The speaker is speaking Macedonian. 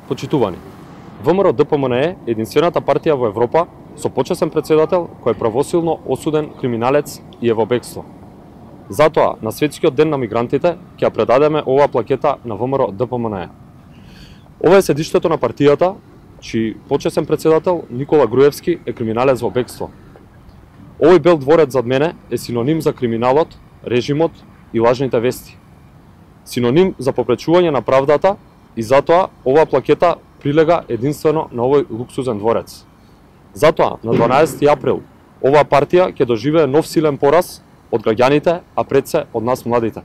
Почитувани, ВМРО ДПМНЕ е единствената партија во Европа со почесен председател кој е правосилно осуден криминалец и е во бегство. Затоа, на Светскиот ден на мигрантите, ќе ја предадеме оваа плакета на ВМРО ДПМНЕ. Ова е седиштето на партијата, чиј почесен председател Никола Груевски е криминалец во бегство. Овој бел дворец зад мене е синоним за криминалот, режимот и лажните вести. Синоним за попречување на правдата и затоа оваа плакета прилега единствено на овој луксузен дворец. Затоа, на 12 април, оваа партија ќе доживее нов силен пораз од граѓаните, а пред се од нас младите.